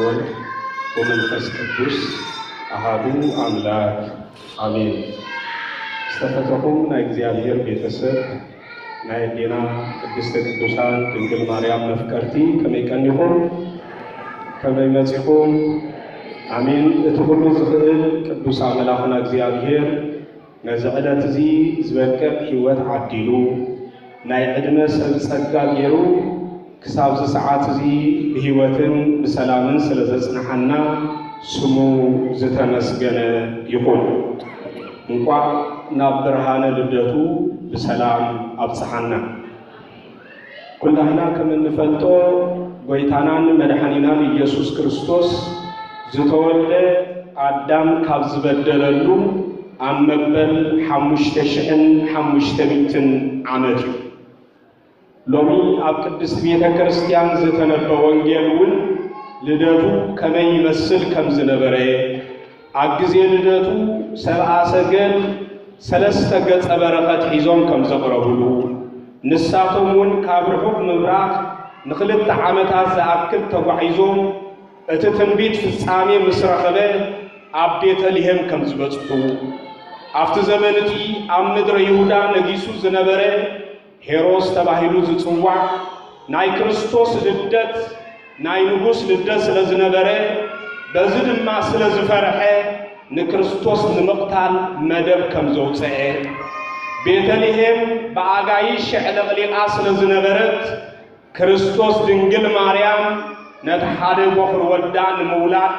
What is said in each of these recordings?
ወልድ ወመንፈስ ቅዱስ ኣሃዱ ኣምላክ ኣሜን። ዝተፈተኹም ናይ እግዚኣብሔር ቤተሰብ፣ ናይ ኣዴና ቅድስተ ቅዱሳን ድንግል ማርያም መፍቀርቲ፣ ከመይ ቀኒኹም? ከመይ መጺኹም? ኣሜን። እቲ ኩሉ ዝኽእል ቅዱስ ኣምላኽና እግዚኣብሔር ነዚ ዕለት እዚ ዝበቅዕ ህይወት ዓዲሉ፣ ናይ ዕድመ ሰብ ጸጋ ገይሩ፣ ክሳብዚ ሰዓት እዚ ብህይወትን ብሰላምን ስለ ዘጽንሓና ስሙ ዝተመስገነ ይኹን። እንቋዕ ናብ ብርሃነ ልደቱ ብሰላም ኣብጽሓና። ኩላህና ከም እንፈልጦ፣ ጎይታናን መድሓኒናን ኢየሱስ ክርስቶስ ዝተወልደ ኣዳም ካብ ዝበደለሉ ኣብ መበል ሓሙሽተ ሽሕን ሓሙሽተ ሚእትን ዓመት እዩ። ሎሚ ኣብ ቅድስት ቤተ ክርስቲያን ዝተነበ ወንጌል እውን ልደቱ ከመይ ይመስል ከም ዝነበረ፣ ኣብ ግዜ ልደቱ ሰብኣ ሰገል ሰለስተ ገጸ በረኸት ሒዞም ከም ዘቕረቡሉ፣ ንሳቶም እውን ካብ ርሑቕ ምብራቕ ንኽልተ ዓመታት ዝኣክል ተጓዒዞም እቲ ትንቢት ፍጻሜ ምስ ረኸበ ኣብ ቤተልሔም ከም ዝበጽሑ፣ ኣብቲ ዘመን እቲ ኣብ ምድረ ይሁዳ ነጊሱ ዝነበረ ሄሮስ ተባሂሉ ዝጽዋዕ ናይ ክርስቶስ ልደት፣ ናይ ንጉስ ልደት ስለ ዝነበረ፣ በዚ ድማ ስለ ዝፈርሐ ንክርስቶስ ንምቕታል መደብ ከም ዘውጽአ፣ ቤተልሔም ብኣጋይሽ ኣዕለቕሊቓ ስለ ዝነበረት፣ ክርስቶስ ድንግል ማርያም ነቲ ሓደ ቦኽሪ ወዳ ንምውላድ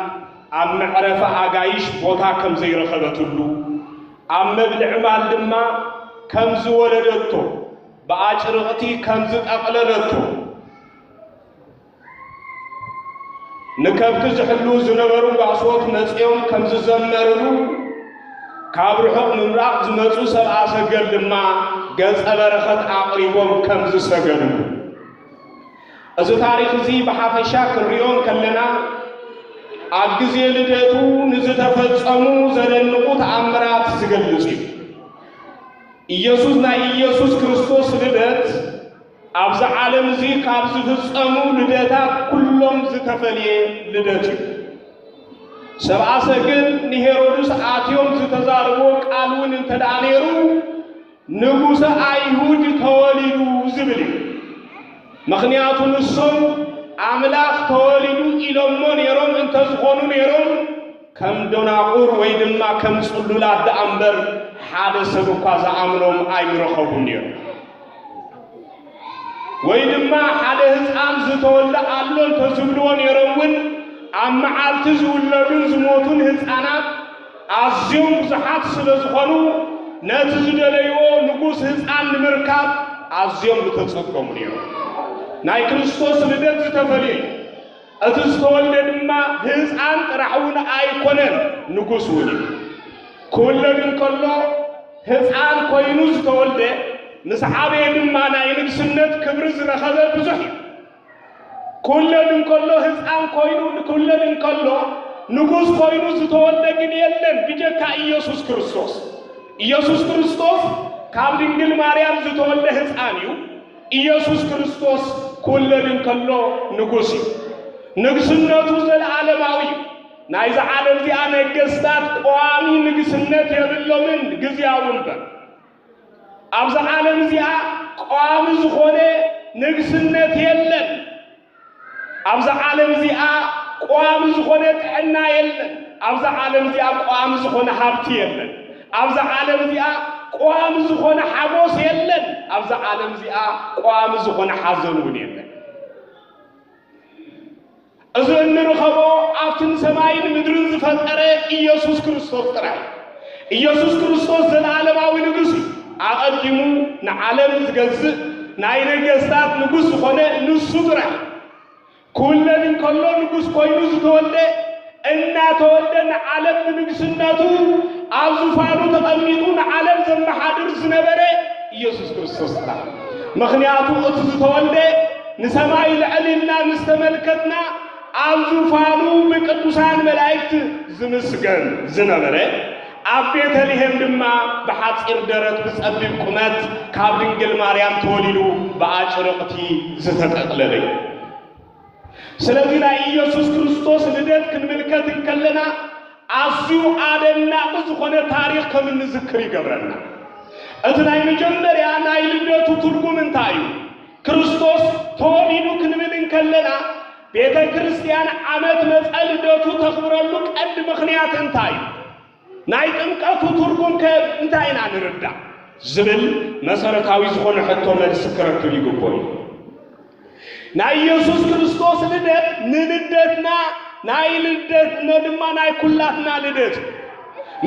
ኣብ መዕረፊ ኣጋይሽ ቦታ ከም ዘይረኸበትሉ፣ ኣብ መብልዒ ማል ድማ ከም ዝወለደቶ፣ ብኣጭርቕቲ ከም ዝጠቕለለቶ፣ ንከብቲ ዝሕልዉ ዝነበሩ ጓሶት መጺኦም ከም ዝዘመርሉ፣ ካብ ርሑቕ ምብራቕ ዝመጹ ሰብኣ ሰገል ድማ ገጸ በረኸት ኣቕሪቦም ከም ዝሰገድሉ። እዚ ታሪኽ እዚ ብሓፈሻ ክንሪኦ እንከለና፣ ኣብ ግዜ ልደቱ ንዝተፈጸሙ ዘደንቑ ተኣምራት ዝገልጽ እዩ። ኢየሱስ፣ ናይ ኢየሱስ ክርስቶስ ልደት ኣብዚ ዓለም እዚ ካብ ዝፍጸሙ ልደታት ኩሎም ዝተፈልየ ልደት እዩ። ሰብኣ ሰገል ንሄሮድስ ኣትዮም ዝተዛረብዎ ቃል እውን እንተ ደኣ ነይሩ፣ "ንጉሰ ኣይሁድ ተወሊዱ" ዝብል እዩ። ምኽንያቱ ንሶም ኣምላኽ ተወሊዱ ኢሎሞ ነይሮም እንተ ዝኾኑ ነይሮም፣ ከም ደናቑር ወይ ድማ ከም ጽሉላት ደኣ እምበር፣ ሓደ ሰብ እኳ ዝኣምኖም ኣይምረኸቡን ነይሮም። ወይ ድማ ሓደ ህፃን ዝተወልደ ኣሎ እንተዝብልዎ ነይሮም እውን፣ ኣብ መዓልቲ ዝውለዱን ዝሞቱን ህፃናት ኣዝዮም ብዙሓት ስለ ዝኾኑ፣ ነቲ ዝደለይዎ ንጉስ ህፃን ንምርካብ ኣዝዮም ምተጸገሙ ነይሮም። ናይ ክርስቶስ ልደት ዝተፈልየ እዩ። እቲ ዝተወልደ ድማ ህፃን ጥራሕ እውን ኣይኮነን፣ ንጉስ እውን እዩ። ክውለድ እንከሎ ህፃን ኮይኑ ዝተወልደ፣ ምስ ዓበየ ድማ ናይ ንግስነት ክብሪ ዝረኸበ ብዙሕ እዩ። ክውለድ እንከሎ ህፃን ኮይኑ፣ ክውለድ እንከሎ ንጉስ ኮይኑ ዝተወልደ ግን የለን፣ ብጀካ ኢየሱስ ክርስቶስ። ኢየሱስ ክርስቶስ ካብ ድንግል ማርያም ዝተወልደ ህፃን እዩ። ኢየሱስ ክርስቶስ ክውለድ እንከሎ ንጉስ እዩ። ንግስነቱ ዘለዓለማዊ እዩ። ናይዛ ዓለም እዚኣ ነገስታት ቋሚ ንግስነት የብሎምን፣ ግዝያዊ እምበር። ኣብዛ ዓለም እዚኣ ቋሚ ዝኾነ ንግስነት የለን። ኣብዛ ዓለም እዚኣ ቋሚ ዝኾነ ጥዕና የለን። ኣብዛ ዓለም እዚኣ ቋሚ ዝኾነ ሃብቲ የለን። ኣብዛ ዓለም እዚኣ ቋሚ ዝኾነ ሓጎስ የለን። ኣብዛ ዓለም እዚኣ ቋሚ ዝኾነ ሓዘን እውን የለን። እዚ እንርኸቦ ኣብቲ ንሰማይን ምድርን ዝፈጠረ ኢየሱስ ክርስቶስ ጥራይ። ኢየሱስ ክርስቶስ ዘለዓለማዊ ንጉስ እዩ። ኣቐዲሙ ንዓለም ዝገዝእ ናይ ነገስታት ንጉስ ዝኾነ ንሱ ጥራይ። ክውለድ እንከሎ ንጉስ ኮይኑ ዝተወልደ፣ እናተወልደ ንዓለም ብንግስነቱ ኣብ ዙፋኑ ተቐሚጡ ንዓለም ዘመሓድር ዝነበረ ኢየሱስ ክርስቶስ ጥራሕ። ምኽንያቱ እቲ ዝተወልደ ንሰማይ ልዕል ኢልና ምስ ተመልከትና ኣብ ዙፋኑ ብቅዱሳን መላእክት ዝምስገን ዝነበረ፣ ኣብ ቤተልሔም ድማ ብሓጺር ደረት ብጸቢብ ቁመት ካብ ድንግል ማርያም ተወሊዱ ብኣጭርቕቲ ዝተጠቕለለ እዩ። ስለዚ ናይ ኢየሱስ ክርስቶስ ልደት ክንምልከት እንከለና ኣዝዩ ኣደናቂ ዝኾነ ታሪኽ ከም እንዝክር ይገብረና። እቲ ናይ መጀመርያ ናይ ልደቱ ትርጉም እንታይ እዩ? ክርስቶስ ተወሊዱ ክንብል እንከለና ቤተ ክርስቲያን ዓመት መጸ ልደቱ ተኽብረሉ ቀንዲ ምኽንያት እንታይ እዩ? ናይ ጥምቀቱ ትርጉም ከ እንታይ ኢና ንርዳእ? ዝብል መሰረታዊ ዝኾነ ሕቶ መልሲ ክረክብ ይግብኦ እዩ። ናይ ኢየሱስ ክርስቶስ ልደት ንልደትና ናይ ልደትና ድማ ናይ ኩላትና ልደት እዩ።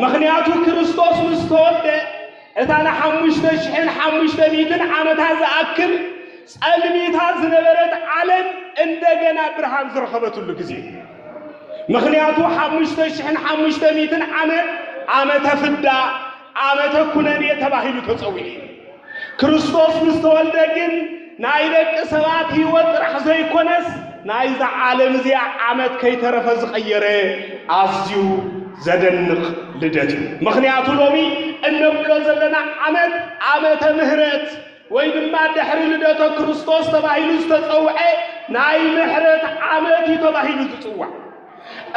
ምኽንያቱ ክርስቶስ ምስ ተወልደ እታ ንሓሙሽተ ሽሕን ሓሙሽተ ሚእትን ዓመታት ዝኣክል ጸልሚታ ዝነበረት ዓለም እንደገና ብርሃን ዝረኸበትሉ ግዜ። ምኽንያቱ ሓሙሽተ ሽሕን ሓሙሽተ ሚእትን ዓመት ዓመተ ፍዳ፣ ዓመተ ኩነኔ ተባሂሉ ተጸዊዑ እዩ። ክርስቶስ ምስ ተወልደ ግን ናይ ደቂ ሰባት ህይወት ጥራሕ ዘይኮነስ ናይዛ ዓለም እዚኣ ዓመት ከይተረፈ ዝቐየረ ኣዝዩ ዘደንቕ ልደት እዩ። ምኽንያቱ ሎሚ እነብሎ ዘለና ዓመት ዓመተ ምህረት ወይ ድማ ድሕሪ ልደተ ክርስቶስ ተባሂሉ ዝተጸውዐ ናይ ምሕረት ዓመት እዩ ተባሂሉ ዝጽዋዕ።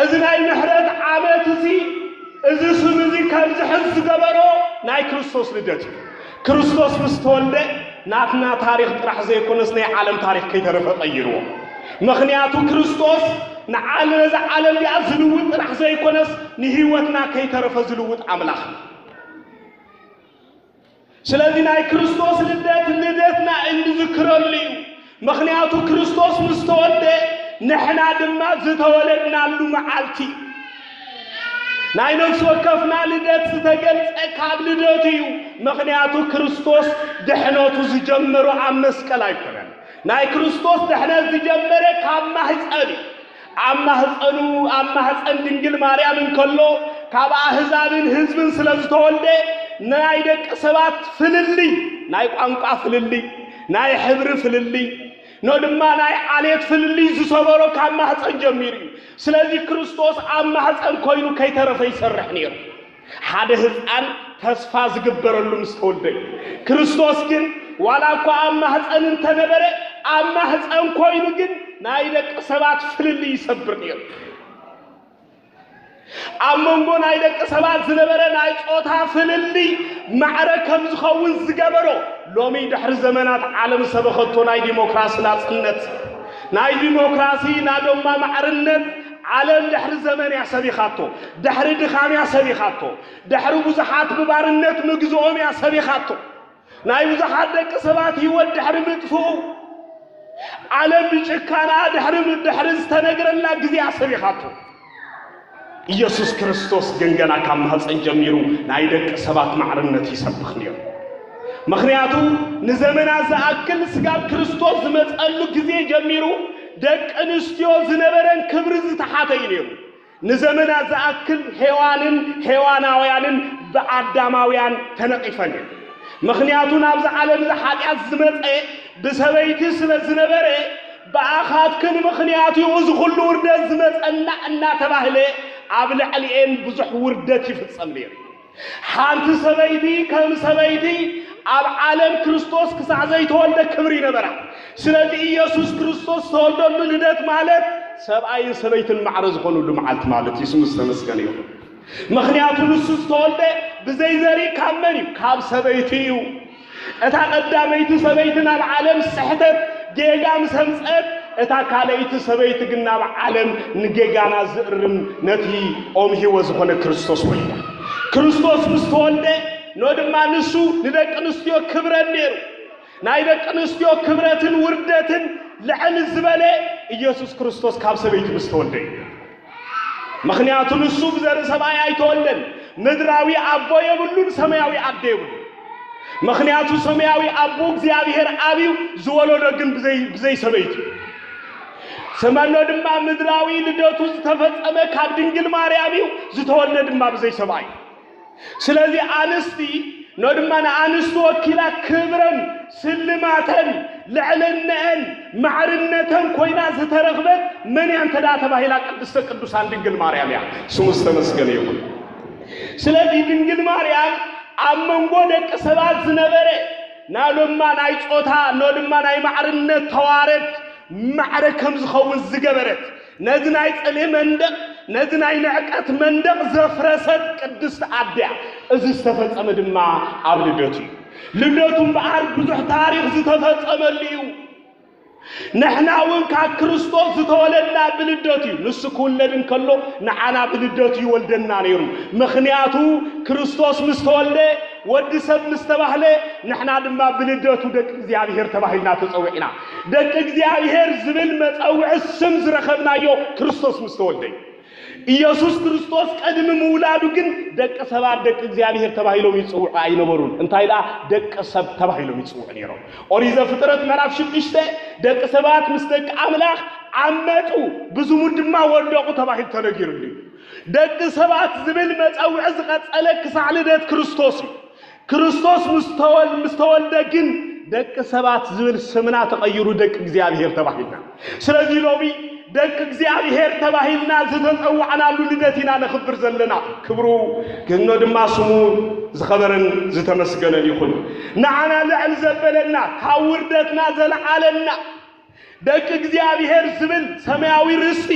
እዚ ናይ ምሕረት ዓመት እዚ፣ እዚ ስም እዚ ከም ዝሕዝ ዝገበሮ ናይ ክርስቶስ ልደት እዩ። ክርስቶስ ምስ ተወልደ ናትና ታሪኽ ጥራሕ ዘይኮነስ ናይ ዓለም ታሪኽ ከይተረፈ ቀይርዎ። ምኽንያቱ ክርስቶስ ንዓለ-፣ ነዛ ዓለም እዚኣ ዝልውጥ ጥራሕ ዘይኮነስ ንህይወትና ከይተረፈ ዝልውጥ ኣምላኽ እዩ። ስለዚ ናይ ክርስቶስ ልደት ልደትና እንዝክረሉ እዩ። ምኽንያቱ ክርስቶስ ምስ ተወልደ ንሕና ድማ ዝተወለድናሉ መዓልቲ እዩ። ናይ ነፍሲ ወከፍና ልደት ዝተገልጸ ካብ ልደቱ እዩ። ምኽንያቱ ክርስቶስ ድሕነቱ ዝጀመሮ ኣብ መስቀል ኣይኮነን። ናይ ክርስቶስ ድሕነት ዝጀመረ ካብ ማህጸን እዩ። ኣብ ማህጸኑ፣ ኣብ ማህጸን ድንግል ማርያም እንከሎ ካብ ኣህዛብን ህዝብን ስለ ዝተወልደ ናይ ደቂ ሰባት ፍልልይ፣ ናይ ቋንቋ ፍልልይ፣ ናይ ሕብሪ ፍልልይ፣ ኖ ድማ ናይ ዓሌት ፍልልይ ዝሰበሮ ካብ ማህጸን ጀሚሩ እዩ። ስለዚ ክርስቶስ ኣብ ማህጸን ኮይኑ ከይተረፈ ይሰርሕ ነይሩ። ሓደ ህፃን ተስፋ ዝግበረሉ ምስ ተወልደ እዩ። ክርስቶስ ግን ዋላ እኳ ኣብ ማህፀን እንተነበረ፣ ኣብ ማህፀን ኮይኑ ግን ናይ ደቂ ሰባት ፍልልይ ይሰብር ነይሩ። ኣብ መንጎ ናይ ደቂ ሰባት ዝነበረ ናይ ጾታ ፍልልይ ማዕረ ከም ዝኸውን ዝገበሮ፣ ሎሚ ድሕሪ ዘመናት ዓለም ሰበኸቶ ናይ ዲሞክራሲ ናጽነት፣ ናይ ዲሞክራሲ ናዶማ ማዕርነት ዓለም ድሕሪ ዘመን እያ ሰቢኻቶ፣ ድሕሪ ድኻም እያ ሰቢኻቶ፣ ድሕሪ ብዙሓት ብባርነት ምግዝኦም እያ ሰቢኻቶ። ናይ ብዙሓት ደቂ ሰባት ህይወት ድሕሪ ምጥፍኡ፣ ዓለም ብጭካና ድሕሪ ም-፣ ድሕሪ ዝተነግረላ ግዜ እያ ሰቢኻቶ። ኢየሱስ ክርስቶስ ግን ገና ካብ ማህፀን ጀሚሩ ናይ ደቂ ሰባት ማዕርነት ይሰብኽ ነይሩ። ምኽንያቱ ንዘመናት ዝኣክል ስጋብ ክርስቶስ ዝመፀሉ ግዜ ጀሚሩ ደቂ ኣንስትዮ ዝነበረን ክብሪ ዝተሓተ እዩ ነይሩ። ንዘመናት ዝኣክል ሄዋንን ሄዋናውያንን ብኣዳማውያን ተነቒፈን እየን። ምኽንያቱ ናብዚ ዓለም እዚ ሓጢኣት ዝመፀ ብሰበይቲ ስለ ዝነበረ፣ ብኣኻትክን ምኽንያት እዩ እዚ ኩሉ ውርደት ዝመፀና እናተባህለ ኣብ ልዕሊኤን ብዙሕ ውርደት ይፍጸም ነይሩ። ሓንቲ ሰበይቲ ከም ሰበይቲ ኣብ ዓለም ክርስቶስ ክሳዕ ዘይተወልደ ክብሪ ይነበራ። ስለዚ ኢየሱስ ክርስቶስ ዝተወልደሉ ልደት ማለት ሰብኣይን ሰበይትን ማዕረ ዝኾኑሉ መዓልቲ ማለት እዩ። ስሙ ዝተመስገነ ይኹን። ምኽንያቱ ንሱ ዝተወልደ ብዘይ ዘርኢ ካብ መን እዩ? ካብ ሰበይቲ እዩ። እታ ቀዳመይቲ ሰበይቲ ናብ ዓለም ስሕተት ጌጋ ምስ ኣምጸት፣ እታ ካልኣይቲ ሰበይቲ ግን ናብ ዓለም ንጌጋና ዝእርም ነቲ ኦም ህይወት ዝኾነ ክርስቶስ ወሊዳ። ክርስቶስ ምስ ተወልደ፣ ኖ ድማ ንሱ ንደቂ ኣንስትዮ ክብረን ነይሩ። ናይ ደቂ ኣንስትዮ ክብረትን ውርደትን ልዕል ዝበለ ኢየሱስ ክርስቶስ ካብ ሰበይቲ ምስ ተወልደ እዩ። ምኽንያቱ ንሱ ብዘርኢ ሰብኣይ ኣይተወልደን። ምድራዊ ኣቦ የብሉን፣ ሰማያዊ ኣደ የብሉን። ምኽንያቱ ሰማያዊ ኣቦ እግዚኣብሔር ኣብ እዩ፣ ዝወለዶ ግን ብዘይ፣ ብዘይ ሰበይቲ እዩ። ሰመኖ ድማ ምድራዊ ልደቱ ዝተፈጸመ ካብ ድንግል ማርያም እዩ፣ ዝተወልደ ድማ ብዘይ ሰብኣይ። ስለዚ ኣንስቲ፣ ኖ ድማ ንኣንስቲ ወኪላ ክብረን፣ ስልማተን፣ ልዕልነአን፣ ማዕርነተን ኮይና ዝተረኽበት መን እያ እንተ ደኣ ተባሂላ፣ ቅድስተ ቅዱሳን ድንግል ማርያም እያ። ስሙ ዝተመስገነ ይኹን። ስለዚ ድንግል ማርያም ኣብ መንጎ ደቂ ሰባት ዝነበረ፣ ኖ ድማ ናይ ጾታ፣ ኖ ድማ ናይ ማዕርነት ተዋረድ፣ ማዕረ ከም ዝኸውን ዝገበረት፣ ነዚ ናይ ጽልኢ መንደቕ፣ ነዚ ናይ ንዕቀት መንደቕ ዘፍረሰት ቅድስቲ ኣደ እያ። እዚ ዝተፈጸመ ድማ ኣብ ልደቱ እዩ። ልደቱ እምበኣር ብዙሕ ታሪኽ ዝተፈጸመሉ እዩ። ንሕና እውን ካብ ክርስቶስ ዝተወለድና ብልደቱ እዩ። ንሱ ክውለድ እንከሎ ንዓና ብልደቱ ይወልደና ነይሩ። ምኽንያቱ ክርስቶስ ምስ ተወልደ፣ ወዲ ሰብ ምስ ተባህለ፣ ንሕና ድማ ብልደቱ ደቂ እግዚኣብሔር ተባሂልና ተጸዊዕና። ደቂ እግዚኣብሔር ዝብል መጸውዒ ስም ዝረኸብናዮ ክርስቶስ ምስ ተወልደ እዩ። ኢየሱስ ክርስቶስ ቅድሚ ምውላዱ ግን ደቂ ሰባት ደቂ እግዚኣብሔር ተባሂሎም ይጽውዑ ኣይነበሩን። እንታይ ደኣ ደቂ ሰብ ተባሂሎም ይጽውዑ ነይሮም። ኦሪት ዘፍጥረት ምዕራፍ ሽዱሽተ ደቂ ሰባት ምስ ደቂ ኣምላኽ ዓመጹ፣ ብዝሙት ድማ ወደቑ ተባሂሉ ተነጊሩሉ እዩ። ደቂ ሰባት ዝብል መጸውዒ ዝቐጸለ ክሳዕ ልደት ክርስቶስ እዩ። ክርስቶስ ምስ ተወል-፣ ምስ ተወልደ ግን ደቂ ሰባት ዝብል ስምና ተቐይሩ ደቂ እግዚኣብሔር ተባሂልና። ስለዚ ሎሚ ደቂ እግዚኣብሔር ተባሂልና ዝተጸዋዕናሉ ልደት ኢና ነኽብር ዘለና። ክብሩ ግኖ ድማ ስሙ ዝኸበረን ዝተመስገነን ይኹን። ንዓና ልዕል ዘበለና፣ ካብ ውርደትና ዘለዓለና፣ ደቂ እግዚኣብሔር ዝብል ሰማያዊ ርስቲ፣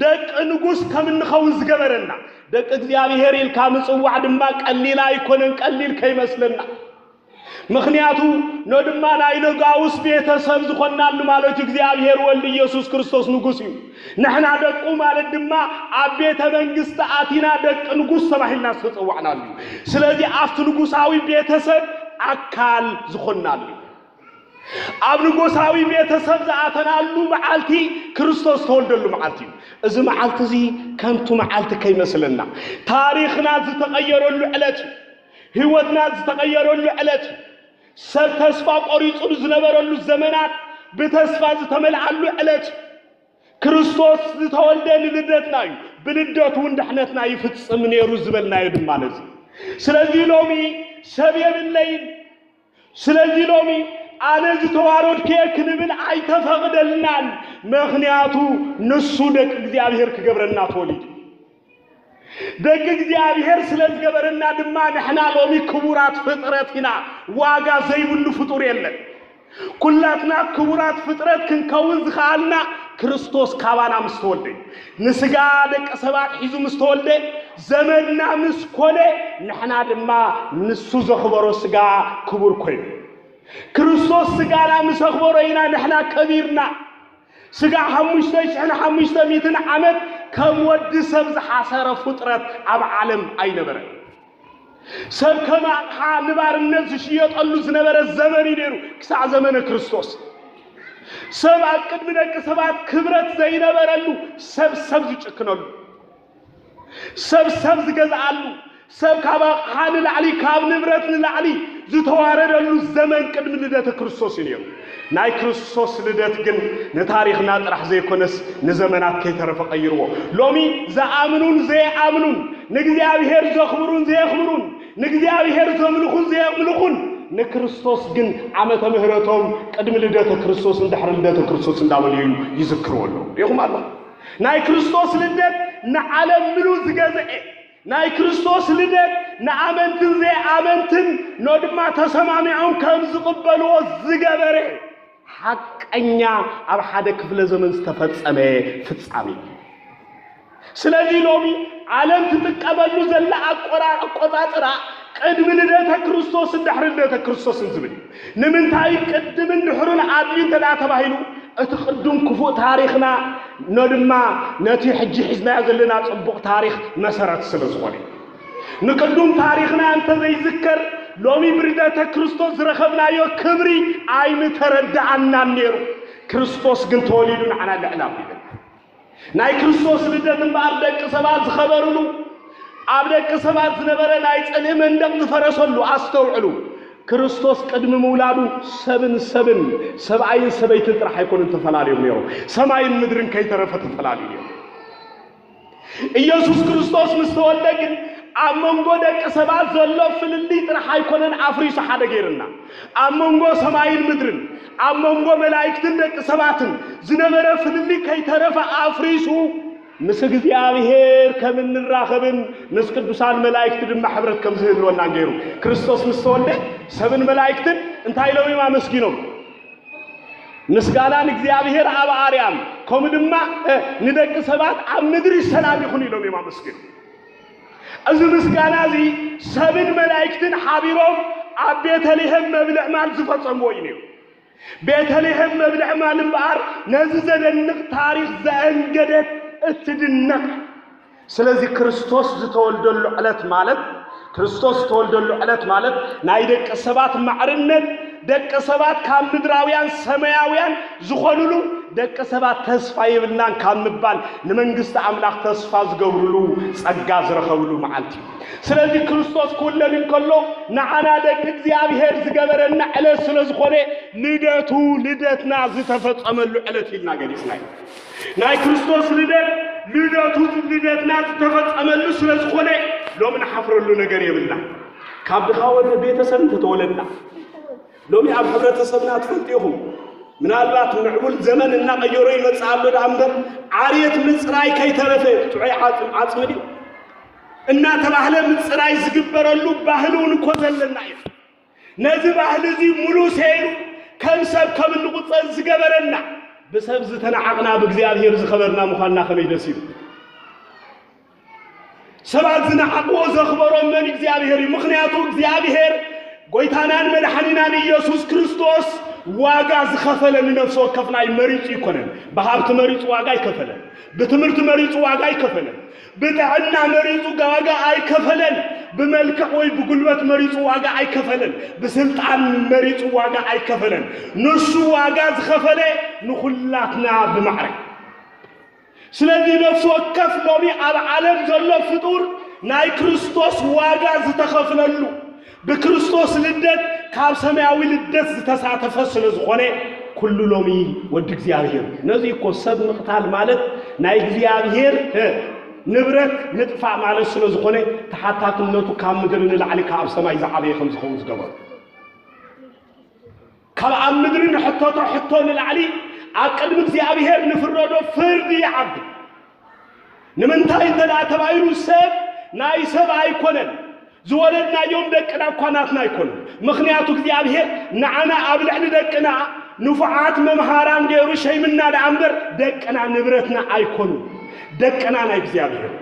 ደቂ ንጉስ ከም እንኸውን ዝገበረና። ደቂ እግዚኣብሔር ኢልካ ምጽዋዕ ድማ ቀሊል ኣይኮነን፣ ቀሊል ከይመስለና። ምኽንያቱ ኖ ድማ ናይ ነጋውስ ቤተሰብ ዝኾንናሉ ማለት እዩ። እግዚኣብሔር ወልድ ኢየሱስ ክርስቶስ ንጉስ እዩ። ንሕና ደቁ ማለት ድማ ኣብ ቤተ መንግስቲ ኣቲና ደቂ ንጉስ ተባሂልና ዝተጸዋዕናሉ እዩ። ስለዚ ኣብቲ ንጉሳዊ ቤተሰብ ኣካል ዝኾንናሉ እዩ። ኣብ ንጉሳዊ ቤተሰብ ዝኣተናሉ መዓልቲ ክርስቶስ ዝተወልደሉ መዓልቲ እዩ። እዚ መዓልቲ እዚ ከምቱ መዓልቲ ከይመስለና፣ ታሪኽና ዝተቐየረሉ ዕለት እዩ። ህይወትና ዝተቐየረሉ ዕለት እዩ። ሰብ ተስፋ ቆሪጹ ዝነበረሉ ዘመናት ብተስፋ ዝተመልኣሉ ዕለት እዩ። ክርስቶስ ዝተወልደ ንልደትና እዩ፣ ብልደቱ እውን ድሕነትና ይፍጽም ነይሩ ዝበልናዮ ድማ ነዚ። ስለዚ ሎሚ ሰብ የብለይን፣ ስለዚ ሎሚ ኣነ ዝተዋረድኩ እየ ክንብል ኣይተፈቕደልናን። ምኽንያቱ ንሱ ደቂ እግዚኣብሔር ክገብረና ተወሊዱ። ደቂ እግዚኣብሔር ስለ ዝገበረና ድማ ንሕና ሎሚ ክቡራት ፍጥረት ኢና። ዋጋ ዘይብሉ ፍጡር የለን። ኩላትና ክቡራት ፍጥረት ክንከውን ዝኸኣልና ክርስቶስ ካባና ምስ ተወልደ፣ ንስጋ ደቂ ሰባት ሒዙ ምስ ተወልደ፣ ዘመድና ምስ ኮነ፣ ንሕና ድማ ንሱ ዘኽበሮ ስጋ ክቡር ኮይኑ። ክርስቶስ ስጋና ምስ ኣኽበሮ ኢና ንሕና ከቢርና። ስጋ ሓሙሽተ ሽሕን ሓሙሽተ ሚእትን ዓመት ከም ወዲ ሰብ ዝሓሰረ ፍጥረት ኣብ ዓለም ኣይነበረን። ሰብ ከም ኣቕሓ ንባርነት ዝሽየጠሉ ዝነበረ ዘመን እዩ ነይሩ፣ ክሳዕ ዘመነ ክርስቶስ። ሰብ ኣብ ቅድሚ ደቂ ሰባት ክብረት ዘይነበረሉ፣ ሰብ ሰብ ዝጭክነሉ፣ ሰብ ሰብ ዝገዝኣሉ፣ ሰብ ካብ ኣቕሓ ንላዕሊ፣ ካብ ንብረት ንላዕሊ ዝተዋረደሉ ዘመን ቅድሚ ልደተ ክርስቶስ እዩ ነይሩ። ናይ ክርስቶስ ልደት ግን ንታሪኽና ጥራሕ ዘይኮነስ ንዘመናት ከይተረፈ ቀይርዎ። ሎሚ ዝኣምኑን ዘይኣምኑን፣ ንእግዚኣብሔር ዘኽብሩን ዘየኽብሩን፣ ንእግዚኣብሔር ዘምልኹን ዘየምልኹን፣ ንክርስቶስ ግን ዓመተ ምህረቶም ቅድሚ ልደተ ክርስቶስን ድሕሪ ልደተ ክርስቶስ እንዳበሉ እዩ ይዝክርዎ ኣለዉ። ሪኢኹም ኣለኹም። ናይ ክርስቶስ ልደት ንዓለም ምሉእ ዝገዝአ፣ ናይ ክርስቶስ ልደት ንኣመንትን ዘይኣመንትን ኖ ድማ ተሰማሚዖም ከም ዝቕበልዎ ዝገበረ ሓቀኛ ኣብ ሓደ ክፍለ ዘመን ዝተፈጸመ ፍጻሜ እዩ። ስለዚ ሎሚ ዓለም ትጥቀመሉ ዘላ ኣቆራ-፣ ኣቆጻጽራ ቅድሚ ልደተ ክርስቶስን ድሕሪ ልደተ ክርስቶስን ዝብል እዩ። ንምንታይ ቅድምን ድሕሩን ኣድልዩ እንተ ደኣ ተባሂሉ፣ እቲ ቅዱም ክፉእ ታሪኽና ኖ ድማ ነቲ ሕጂ ሒዝናዮ ዘለና ጽቡቕ ታሪኽ መሰረት ስለ ዝኾነ እዩ። ንቅዱም ታሪኽና እንተ ዘይዝከር፣ ሎሚ ብልደተ ክርስቶስ ዝረኸብናዮ ክብሪ ኣይምተረድኣናን ነይሩ። ክርስቶስ ግን ተወሊዱ ንዓና ልዕል ኣቢሉና። ናይ ክርስቶስ ልደት እምበኣር ደቂ ሰባት ዝኸበሩሉ፣ ኣብ ደቂ ሰባት ዝነበረ ናይ ጽልኢ መንደቕ ዝፈረሰሉ፣ ኣስተውዕሉ። ክርስቶስ ቅድሚ ምውላዱ ሰብን ሰብን፣ ሰብኣይን ሰበይትን ጥራሕ ኣይኮኑን ተፈላለዮም ነይሮም። ሰማይን ምድርን ከይተረፈ ተፈላለዩ ነይሮም። ኢየሱስ ክርስቶስ ምስ ተወልደ ግን ኣብ መንጎ ደቂ ሰባት ዘሎ ፍልልይ ጥራሕ ኣይኮነን ኣፍሪሱ ሓደ ገይርና። ኣብ መንጎ ሰማይን ምድርን፣ ኣብ መንጎ መላእክትን ደቂ ሰባትን ዝነበረ ፍልልይ ከይተረፈ ኣፍሪሱ፣ ምስ እግዚኣብሔር ከም እንራኸብን ምስ ቅዱሳን መላእክቲ ድማ ሕብረት ከም ዝህልወናን ገይሩ። ክርስቶስ ምስ ተወልደ ሰብን መላእክትን እንታይ ኢሎም እዮም ኣመስጊኖም? ምስጋና ንእግዚኣብሔር ኣብ ኣርያም፣ ከምኡ ድማ፣ እ፣ ንደቂ ሰባት ኣብ ምድሪ ሰላም ይኹን ኢሎም እዮም ኣመስጊኖም። እዚ ምስጋና እዚ ሰብን መላእክትን ሓቢሮም ኣብ ቤተልሔም መብልዕ ማል ዝፈጸምዎ እዩ ነይሩ። ቤተልሔም መብልዕ ማል እምበኣር ነዚ ዘደንቕ ታሪኽ ዘአንገደት እትድነቕ። ስለዚ ክርስቶስ ዝተወልደሉ ዕለት ማለት፣ ክርስቶስ ዝተወልደሉ ዕለት ማለት ናይ ደቂ ሰባት ማዕርነት፣ ደቂ ሰባት ካብ ምድራውያን ሰማያውያን ዝኾኑሉ፣ ደቂ ሰባት ተስፋ የብልናን ካብ ምባል ንመንግስቲ ኣምላኽ ተስፋ ዝገብሩሉ ጸጋ ዝረኸብሉ መዓልቲ እዩ። ስለዚ ክርስቶስ ክውለድ እንከሎ ንዓና ደቂ እግዚኣብሔር ዝገበረና ዕለት ስለ ዝኾነ ልደቱ ልደትና ዝተፈጸመሉ ዕለት ኢልና ገሊጽናዮ። ናይ ክርስቶስ ልደት ልደቱ ልደትና ዝተፈጸመሉ ስለ ዝኾነ ሎሚ ንሓፍረሉ ነገር የብልና። ካብ ድኻ ወደ ቤተሰብ እንተተወለድና ሎሚ ኣብ ሕብረተሰብና ትፈልጡ ኢኹም። ምናልባት ምዕቡል ዘመን እናቐየሮ ይመጽእ ኣሎ ደኣ እምበር ዓርየት ምጽራይ ከይተረፈ ጥዑይ ዓጽም ዓጽሚ ድዩ እናተባህለ ምጽራይ ዝግበረሉ ባህሊ እውን እኮ ዘለና እዩ። ነዚ ባህሊ እዚ ሙሉ ሰይሩ ከም ሰብ ከም እንቑጸር ዝገበረና ብሰብ ዝተናዓቕና ብእግዚኣብሔር ዝኸበርና ምዃንና ከመይ ደስ ይብል። ሰባት ዝነዓቕዎ ዘኽበሮም መን እግዚኣብሔር እዩ። ምኽንያቱ እግዚኣብሔር ጎይታናን መድሓኒናን ኢየሱስ ክርስቶስ ዋጋ ዝኸፈለ ንነፍሲ ወከፍና እዩ። መሪጹ ይኮነን። ብሃብቲ መሪጹ ዋጋ ኣይከፈለን። ብትምህርቲ መሪጹ ዋጋ ኣይከፈለን። ብጥዕና መሪጹ ዋጋ ኣይከፈለን። ብመልክዕ ወይ ብጉልበት መሪጹ ዋጋ ኣይከፈለን። ብስልጣን መሪጹ ዋጋ ኣይከፈለን። ንሱ ዋጋ ዝኸፈለ ንኹላትና ብማዕረ። ስለዚ ነፍሲ ወከፍ ሎሚ ኣብ ዓለም ዘሎ ፍጡር ናይ ክርስቶስ ዋጋ ዝተኸፍለሉ ብክርስቶስ ልደት ካብ ሰማያዊ ልደት ዝተሳተፈ ስለ ዝኾነ ኩሉ ሎሚ ወዲ እግዚኣብሔር። ነዚ እኮ ሰብ ምቕታል ማለት ናይ እግዚኣብሔር ንብረት ምጥፋእ ማለት ስለ ዝኾነ ተሓታትነቱ ካብ ምድሪ ንላዕሊ ካብ ሰማይ ዝዓበየ ከም ዝኸውን ዝገበሩ ካብ ኣብ ምድሪ ንሕተቶ ሕቶ ንላዕሊ ኣብ ቅድሚ እግዚኣብሔር ንፍረዶ ፍርዲ ይዓቢ። ንምንታይ እንተ ደኣ ተባሂሉ ሰብ ናይ ሰብ ኣይኮነን። ዝወለድናዮም ደቅና እኳ ናትና ኣይኮኑን። ምኽንያቱ እግዚኣብሔር ንዓና ኣብ ልዕሊ ደቅና ንፉዓት መምሃራን ገይሩ ሸይምና ደኣ እምበር ደቅና ንብረትና ኣይኮኑን። ደቅና ናይ እግዚኣብሔር።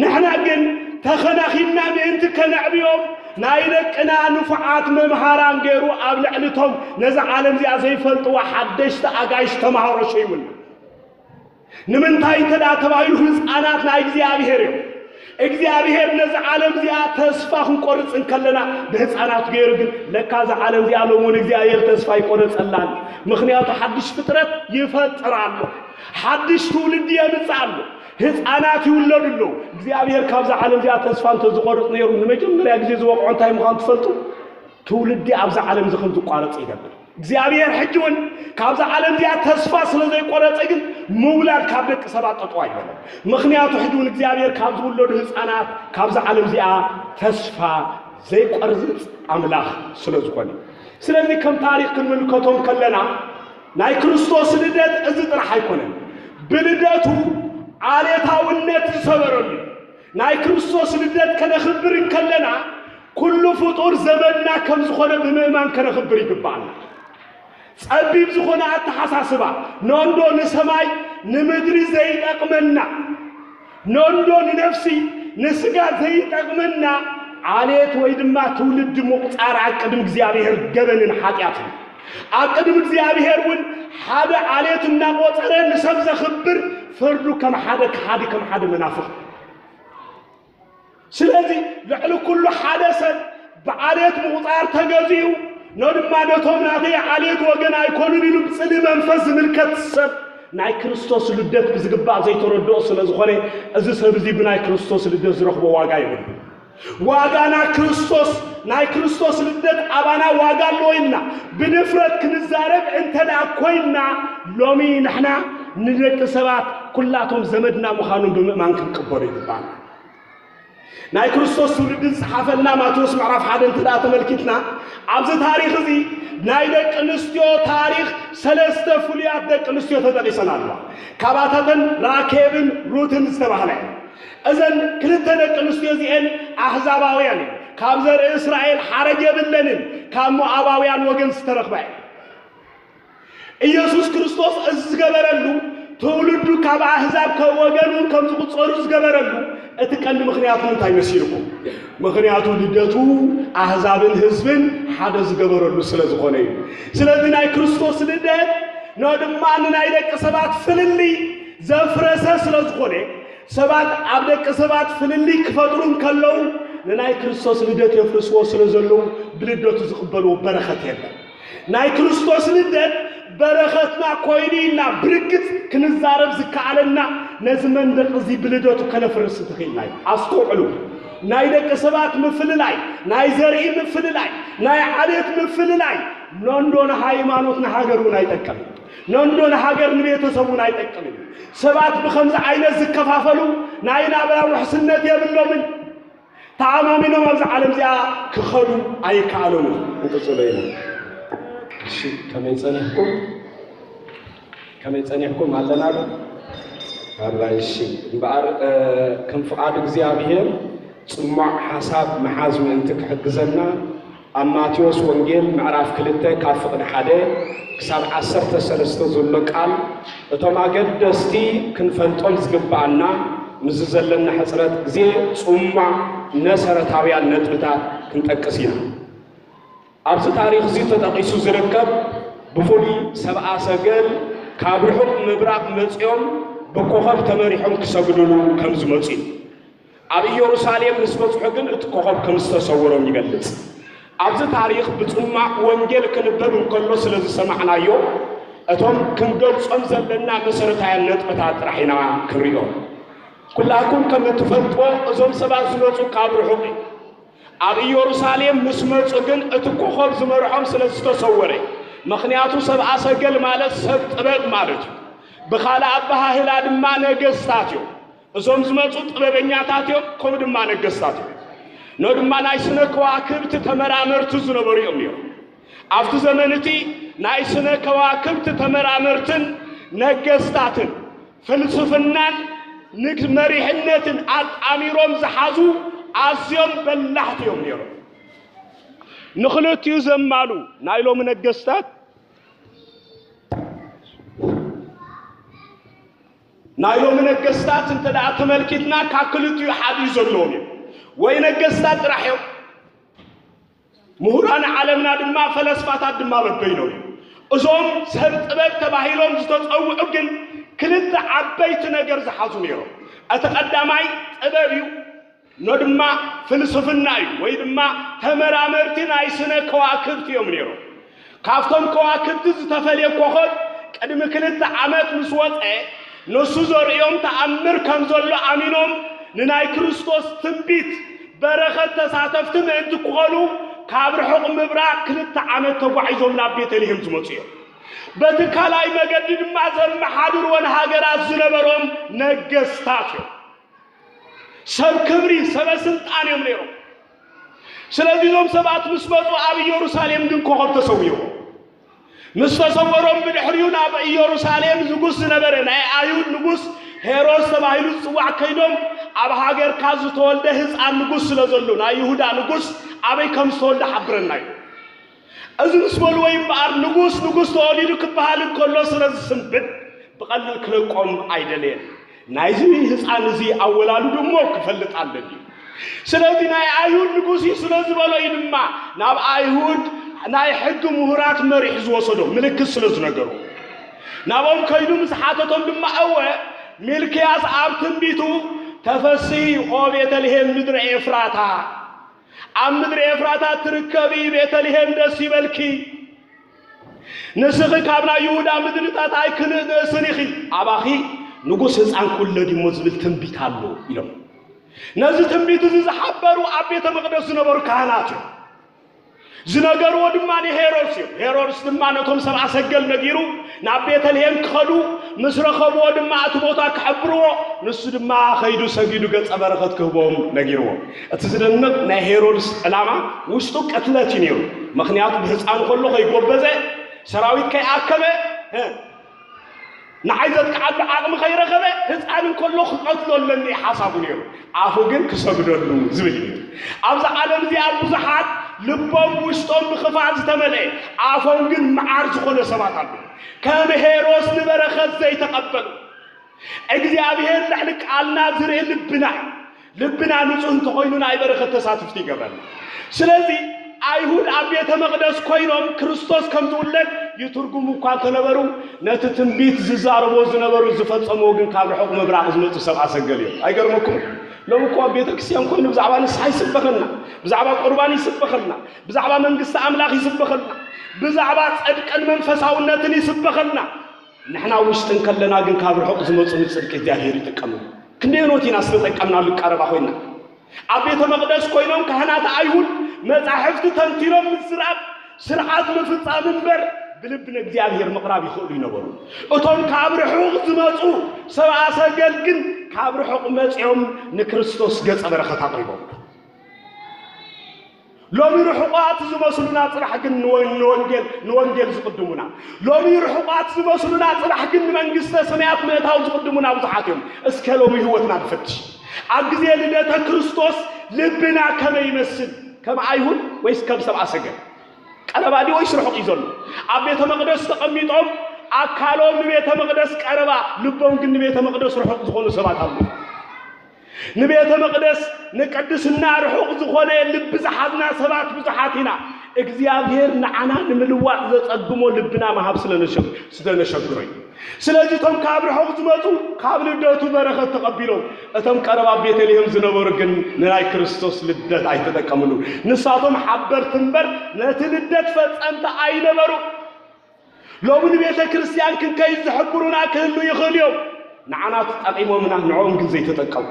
ንሕና ግን ተኸናኺንና ምእንቲ ከነዕብዮም ናይ ደቅና ንፉዓት መምሃራን ገይሩ ኣብ ልዕሊ እቶም ነዛ ዓለም እዚኣ ዘይፈልጥዋ ሓደሽቲ ኣጋይሽ ተምሃሮ ሸይሙና። ንምንታይ እንተ ደኣ ተባሂሉ ህፃናት ናይ እግዚኣብሔር እዮም። እግዚኣብሔር ነዚ ዓለም እዚኣ ተስፋ ክንቆርፅ እንከለና ብህፃናት ገይሩ ግን ለካ እዛ ዓለም እዚኣ ሎሚ እውን እግዚኣብሔር ተስፋ ይቆረፀላን። ምኽንያቱ ሓድሽ ፍጥረት ይፈጥር ኣሎ። ሓድሽ ትውልዲ የምፅእ ኣሎ። ህፃናት ይውለዱ ኣለዉ። እግዚኣብሔር ካብዛ ዓለም እዚኣ ተስፋ እንተዝቆርፅ ነይሩ ንመጀመርያ ግዜ ዝወቕዖ እንታይ ምዃኑ ትፈልጡ? ትውልዲ ኣብዛ ዓለም እዚ ከም ዝቋረፅ ይገብር። እግዚኣብሔር ሕጂ እውን ካብዛ ዓለም እዚኣ ተስፋ ስለ ዘይቆረፀ ግን ምውላድ ካብ ደቂ ሰባት ጠጠው ኣይበለን። ምኽንያቱ ሕጂ እውን እግዚኣብሔር ካብ ዝውለዱ ህፃናት ካብዛ ዓለም እዚኣ ተስፋ ዘይቆርፅ ኣምላኽ ስለ ዝኾነ። ስለዚ ከም ታሪኽ ክንምልከቶም ከለና ናይ ክርስቶስ ልደት እዚ ጥራሕ ኣይኮነን። ብልደቱ ዓሌታውነት ዝሰበረሉ ናይ ክርስቶስ ልደት ከነኽብር እንከለና ኩሉ ፍጡር ዘመድና ከም ዝኾነ ብምእማን ከነኽብር ይግባኣና። ጸቢብ ዝኾነ ኣተሓሳስባ፣ ኖንዶ ንሰማይ ንምድሪ ዘይጠቕመና፣ ኖንዶ ንነፍሲ ንስጋ ዘይጠቕመና ዓሌት ወይ ድማ ትውልዲ ምቑጻር ኣብ ቅድሚ እግዚኣብሔር ገበንን ሓጢኣትን። ኣብ ቅድሚ እግዚኣብሔር እውን ሓደ ዓሌት እናቖጸረ ንሰብ ዘኽብር ፍርዱ ከም ሓደ ከሓዲ፣ ከም ሓደ መናፍቕ። ስለዚ ልዕሊ ኩሉ ሓደ ሰብ ብዓሌት ምቑጻር ተገዚኡ፣ ኖ ድማ ነቶም ናተይ ዓሌት ወገን ኣይኮኑን ኢሉ ብጽልኢ መንፈስ ዝምልከት ሰብ ናይ ክርስቶስ ልደት ብዝግባእ ዘይተረድኦ ስለ ዝኾነ እዚ ሰብ እዚ ብናይ ክርስቶስ ልደት ዝረኽቦ ዋጋ የብሉን። ዋጋና ክርስቶስ፣ ናይ ክርስቶስ ልደት ኣባና ዋጋ ኣለዎ ኢልና ብድፍረት ክንዛረብ እንተ ደኣ ኮይንና ሎሚ ንሕና ንደቂ ሰባት ኩላቶም ዘመድና ምዃኖም ብምእማን ክንቅበሎ ይግባና። ናይ ክርስቶስ ትውልዲ ዝጸሓፈልና ማቴዎስ ምዕራፍ ሓደ እንተ ደኣ ተመልኪትና ኣብዚ ታሪኽ እዚ ናይ ደቂ ኣንስትዮ ታሪኽ ሰለስተ ፍሉያት ደቂ ኣንስትዮ ተጠቒሰን ኣለዋ። ካብኣተን ራኬብን ሩትን ዝተባህላ እየን። እዘን ክልተ ደቂ ኣንስትዮ እዚኤን ኣህዛባውያን እየን። ካብ ዘርኢ እስራኤል ሓረግ የብለንን። ካብ ሞኣባውያን ወገን ዝተረኽባ እየን። ኢየሱስ ክርስቶስ እዚ ዝገበረሉ፣ ትውልዱ ካብ ኣህዛብ ከ-፣ ወገን እውን ከም ዝቑጸሩ ዝገበረሉ እቲ ቀንዲ ምኽንያቱ እንታይ መሲልኩም? ምኽንያቱ ልደቱ ኣህዛብን ህዝብን ሓደ ዝገበረሉ ስለ ዝኾነ እዩ። ስለዚ ናይ ክርስቶስ ልደት ኖ ድማ ንናይ ደቂ ሰባት ፍልልይ ዘፍረሰ ስለ ዝኾነ፣ ሰባት ኣብ ደቂ ሰባት ፍልልይ ክፈጥሩ እንከለዉ ንናይ ክርስቶስ ልደት የፍርስዎ ስለ ዘለዉ ብልደቱ ዝቕበልዎ በረኸት የለን። ናይ ክርስቶስ ልደት በረኸትና ኮይኑ ኢና ብርግጽ ክንዛረብ ዝከኣለና፣ ነዚ መንደቕ እዚ ብልደቱ ከነፍርስ እንተኽኢልና እዩ። ኣስተውዕሉ። ናይ ደቂ ሰባት ምፍልላይ፣ ናይ ዘርኢ ምፍልላይ፣ ናይ ዓሌት ምፍልላይ፣ ነንዶ ንሃይማኖት ንሃገር እውን ኣይጠቅምን። ነንዶ ንሃገር ንቤተሰብ እውን ኣይጠቅምን። ሰባት ብኸምዚ ዓይነት ዝከፋፈሉ ናይ ናብራ ውሕስነት የብሎምን። ተኣማሚኖም ኣብዚ ዓለም እዚኣ ክኸዱ ኣይከኣሉን። ክንቅጽሎ ኢና። እሺ፣ ከመይ ጸኒሕኩም? ከመይ ጸኒሕኩም? ኣለና ዶ? ኣላ፣ እሺ። እምበኣር፣ እ፣ ከም ፍቓድ እግዚኣብሔር ጽሟቕ ሓሳብ ምሓዝ ምእንቲ ክሕግዘና፣ ኣብ ማቴዎስ ወንጌል ምዕራፍ ክልተ ካብ ፍቕዲ ሓደ ክሳብ ዓሰርተ ሰለስተ ዘሎ ቃል፣ እቶም ኣገደስቲ ክንፈልጦም ዝግብኣና፣ ምስዚ ዘለና ሕጽረት ግዜ ጽሟቕ መሰረታውያን ነጥብታት ክንጠቅስ ኢና። ኣብዚ ታሪኽ እዚ ተጠቒሱ ዝርከብ፣ ብፍሉይ ሰብኣ ሰገል ካብ ርሑቕ ምብራቕ መጺኦም ብኮኸብ ተመሪሖም ክሰግድሉ ከም ዝመጹ እዩ። ኣብ ኢየሩሳሌም ምስ በጽሑ ግን እቲ ኮኸብ ከም ዝተሰወሮም ይገልጽ። ኣብዚ ታሪኽ ብጽማቕ ወንጌል ክንበብ እንከሎ ስለ ዝሰማዕናዮ፣ እቶም ክንገልጾም ዘለና መሰረታውያን ነጥብታት ጥራሕ ኢና ክንሪኦ። ኩላኩም ከም እትፈልጥዎ እዞም ሰባት ዝመጹ ካብ ርሑቕ እዩ። ኣብ ኢየሩሳሌም ምስ መጹ ግን እቲ ኮኸብ ዝመርሖም ስለ ዝተሰወረ፣ ምኽንያቱ ሰብኣ ሰገል ማለት ሰብ ጥበብ ማለት እዩ። ብኻልእ ኣበሃህላ ድማ ነገስታት እዮም። እዞም ዝመጹ ጥበበኛታት እዮም፣ ከምኡ ድማ ነገስታት እዮም። ኖ ድማ ናይ ስነ ከዋክብቲ ተመራመርቲ ዝነበሩ እዮም ነይሮም። ኣብቲ ዘመን እቲ ናይ ስነ ከዋክብቲ ተመራመርትን ነገስታትን ፍልስፍናን ንግ-፣ መሪሕነትን ኣጣሚሮም ዝሓዙ ኣዝዮም በላሕቲ እዮም ነይሮም። ንኽልቲኡ ዘማሉ ናይ ሎሚ ነገስታት ናይ ሎሚ ነገስታት እንተ ደኣ ተመልኪትና ካብ ክልቲኡ ሓደ እዩ ዘለዎም እዩ። ወይ ነገስታት ጥራሕ እዮም፣ ምሁራን ዓለምና ድማ ፈለስፋታት ድማ በበይኖም እዮም። እዞም ሰብ ጥበብ ተባሂሎም ዝተጸውዑ ግን ክልተ ዓበይቲ ነገር ዝሓዙ ነይሮም። እቲ ቀዳማይ ጥበብ እዩ፣ ኖ ድማ ፍልስፍና እዩ፣ ወይ ድማ ተመራመርቲ ናይ ስነ ከዋክብቲ እዮም ነይሮም። ካብቶም ከዋክብቲ ዝተፈልየ ኮኸብ ቅድሚ ክልተ ዓመት ምስ ወጸ፣ ንሱ ዘርእዮም ተኣምር ከም ዘሎ ኣሚኖም ንናይ ክርስቶስ ትንቢት በረኸት ተሳተፍቲ ምእንቲ ክኾኑ ካብ ርሑቕ ምብራቕ ክልተ ዓመት ተጓዒዞም ናብ ቤተልሔም ዝመጹ እዮም። በቲ ካልኣይ መገዲ ድማ ዘመሓድርወን ሃገራት ዝነበሮም ነገስታት እዮም። ሰብ ክብሪ፣ ሰበ ስልጣን እዮም ነይሮም። ስለዚ እዞም ሰባት ምስ መጹ ኣብ ኢየሩሳሌም ግን ኮኸብ ተሰዊርዎ። ምስ ተሰወሮም ብድሕሪኡ ናብ ኢየሩሳሌም ንጉስ ዝነበረ ናይ ኣይሁድ ንጉስ ሄሮድስ ተባሂሉ ዝጽዋዕ ከይዶም ኣብ ሃገርካ ዝተወልደ ህፃን ንጉስ ስለ ዘሎ ናይ ይሁዳ ንጉስ ኣበይ ከም ዝተወልደ ሓብረና እዩ። እዚ ምስ በልዎ እምበኣር ንጉስ ንጉስ ተወሊዱ ክበሃል እንከሎ ስለ ዝስንብድ ብቐሊል ክለቆም ኣይደለየን። ናይዚ ህፃን እዚ ኣወላልዱ እሞ ክፈልጥ ኣለኒ። ስለዚ ናይ ኣይሁድ ንጉስ እዩ ስለ ዝበሎ እዩ ድማ ናብ ኣይሁድ ናይ ሕጊ ምሁራት መሪሑ ዝወሰዶ ምልክት ስለ ዝነገሩ ናብኦም ከይዱ ምስ ሓተቶም ድማ እወ ሚልክያስ ኣብ ትንቢቱ ተፈሲ ኦ ቤተልሔም ምድረ ኤፍራታ ኣብ ምድሪ ኤፍራታ ትርከቢ ቤተልሔም ደስ ይበልኪ። ንስኺ ካብ ናይ ይሁዳ ምድርታት ኣይክንእስን ኢኺ። ኣባኺ ንጉስ ህፃን ክውለድ እሞ ዝብል ትንቢት ኣሎ ኢሎም። ነዚ ትንቢት እዚ ዝሓበሩ ኣብ ቤተ መቕደስ ዝነበሩ ካህናት እዮም። ዝነገርዎ ድማ ንሄሮድስ እዮም። ሄሮድስ ድማ ነቶም ሰብኣ ሰገል ነጊሩ ናብ ቤተልሔም ክኸዱ ምስ ረኸብዎ ድማ እቲ ቦታ ክሕብርዎ ንሱ ድማ ኸይዱ ሰጊዱ ገጸ በረኸት ክህቦም ነጊርዎ። እቲ ዝደንቕ ናይ ሄሮድስ ዕላማ ውሽጡ ቅትለት እዩ ነይሩ። ምኽንያቱ ብህፃኑ ከሎ ከይጎበዘ ሰራዊት ከይኣከበ ንዓይ ዘጥቅዓሉ ዓቕሚ ከይረኸበ ህፃን እንከሎ ክቐትሎ ኣለኒ ሓሳቡ ነይሩ። ኣፉ ግን ክሰግደሉ ዝብል እዩ። ኣብዚ ዓለም እዚኣ ብዙሓት ልቦም ውሽጦም ብኽፋእ ዝተመልአ ኣፎም ግን መዓር ዝኾነ ሰባት ኣለዉ። ከም ሄሮስ ንበረኸት ዘይተቐበሉ እግዚኣብሔር ልዕሊ ቃልና ዝርኢ ልብና እዩ። ልብና ንጹህ እንተኾይኑ ናይ በረኸት ተሳትፍቲ ይገብረና። ስለዚ ኣይሁድ ኣብ ቤተ መቕደስ ኮይኖም ክርስቶስ ከም ዝውለድ ይትርጉሙ እኳ እንተነበሩ ነቲ ትንቢት ዝዛረቦ ዝነበሩ ዝፈጸምዎ ግን ካብ ርሑቕ ምብራቕ ዝመጹ ሰብ ኣሰገል እዮም። ኣይገርመኩም? ሎም እኮ ኣብ ቤተ ክርስቲያን ኮይኑ ብዛዕባ ንስሓ ይስበኸልና፣ ብዛዕባ ቁርባን ይስበኸልና፣ ብዛዕባ መንግስቲ ኣምላኽ ይስበኸልና፣ ብዛዕባ ጽድቅን መንፈሳውነትን ይስበኸልና። ንሕና ውሽጥን ከለና ግን ካብ ርሑቕ ዝመጹ ንጽድቂ እግዚኣብሔር ይጥቀምሉ። ክንደየኖት ኢና ዝተጠቀምናሉ ቀረባ ኮይና? ኣብ ቤተ መቕደስ ኮይኖም ካህናት ኣይሁድ መጻሕፍቲ ተንቲኖም ምዝራብ ስርዓት ምፍጻም እምበር ብልቢ ንእግዚኣብሔር ምቕራብ ይኽእሉ ይነበሩ። እቶም ካብ ርሑቕ ዝመጹ ሰብኣ ሰገል ግን ካብ ርሑቕ መጺኦም ንክርስቶስ ገጸ በረኸት ኣቕሪቦም። ሎሚ ርሑቓት ዝመስሉና ጽባሕ ግን ንወ- ንወንጌል ንወንጌል ዝቕድሙና፣ ሎሚ ርሑቓት ዝመስሉና ጽባሕ ግን ንመንግስተ ሰማያት ምእታው ዝቕድሙና ብዙሓት እዮም። እስከ ሎሚ ህይወትና ንፈትሽ። ኣብ ግዜ ልደተ ክርስቶስ ልብና ከመይ ይመስል? ከም ኣይሁድ ወይስ ከም ሰብኣ ሰገል? ቀረባ ድዩ ወይስ ርሑቕ እዩ ዘሎ? ኣብ ቤተ መቕደስ ተቐሚጦም ኣካሎም ንቤተ መቕደስ ቀረባ፣ ልቦም ግን ንቤተ መቕደስ ርሑቕ ዝኾኑ ሰባት ኣለዉ። ንቤተ መቕደስ ንቅድስና ርሑቕ ዝኾነ ልቢ ዝሓዝና ሰባት ብዙሓት ኢና። እግዚኣብሔር ንዓና ንምልዋጥ ዘጸግሞ ልብና ምሃብ ስለነሸ- ስለነሸግሮ እዩ። ስለዚ እቶም ካብ ርሑቕ ዝመጹ ካብ ልደቱ በረኸት ተቐቢሎም፣ እቶም ቀረባ ቤተልሔም ዝነበሩ ግን ንናይ ክርስቶስ ልደት ኣይተጠቀምሉ። ንሳቶም ሓበርቲ እምበር ነቲ ልደት ፈጸምቲ ኣይነበሩ። ሎሚ ንቤተ ክርስቲያን ክንከይድ ዝሕብሩና ክህሉ ይኽእሉ እዮም። ንዓና ተጠቂሞምና ንዕኦም ግን ዘይተጠቀሙ።